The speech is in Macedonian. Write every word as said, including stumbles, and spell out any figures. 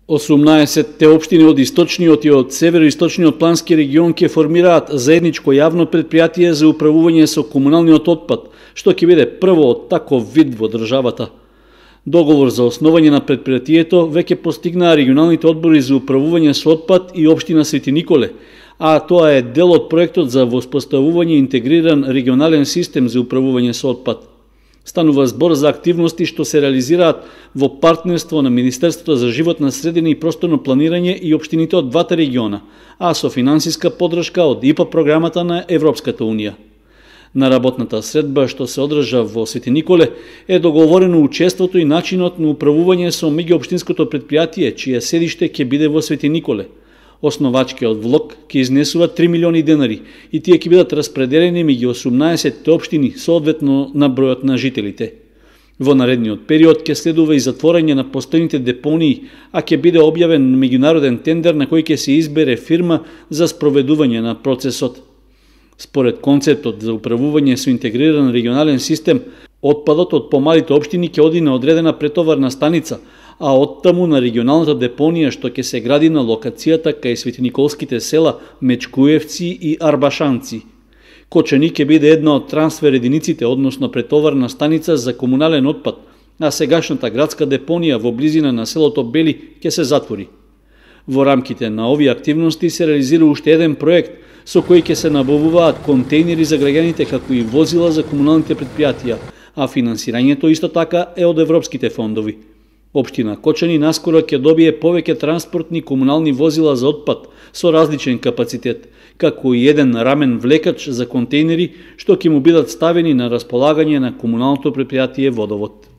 осумнаесетте општини од источниот и од североисточниот плански регион ќе формираат заедничко јавно претпријатие за управување со комуналниот отпад, што ќе биде прво од таков вид во државата. Договор за основање на претпријатието веќе постигнаа регионалните одбори за управување со отпад и општина Свети Николе, а тоа е дел од проектот за воспоставување интегриран регионален систем за управување со отпад. Станува збор за активности што се реализираат во партнерство на Министерството за животна средина и просторно планирање и општините од двата региона, а со финансиска поддршка од ИПА програмата на Европската унија. На работната средба што се одржа во Свети Николе е договорено учеството и начинот на управување со меѓуопштинското претпријатие, чие седиште ќе биде во Свети Николе. Основачкиот влог ќе изнесува три милиони денари и тие ќе бидат распределени меѓу осумнаесетте општини соодветно на бројот на жителите. Во наредниот период ќе следува и затворање на постојните депонии, а ќе биде објавен меѓународен тендер на кој ќе се избере фирма за спроведување на процесот. Според концептот за управување со интегриран регионален систем, отпадот од помалите општини ќе оди на одредена претоварна станица, а оттаму на регионалната депонија што ќе се гради на локацијата кај светиниколските села Мечкуевци и Арбашанци. Кочани ќе биде една од трансфер единиците, односно претоварна станица за комунален отпад, а сегашната градска депонија во близина на селото Бели ќе се затвори. Во рамките на овие активности се реализира уште еден проект со кој ќе се набавуваат контејнери за граѓаните како и возила за комуналните претпријатија, а финансирањето исто така е од европските фондови. Општина Кочани наскоро ќе добие повеќе транспортни комунални возила за отпад со различен капацитет, како и еден рамен влекач за контејнери што ќе му бидат ставени на располагање на комуналното претпријатие Водовод.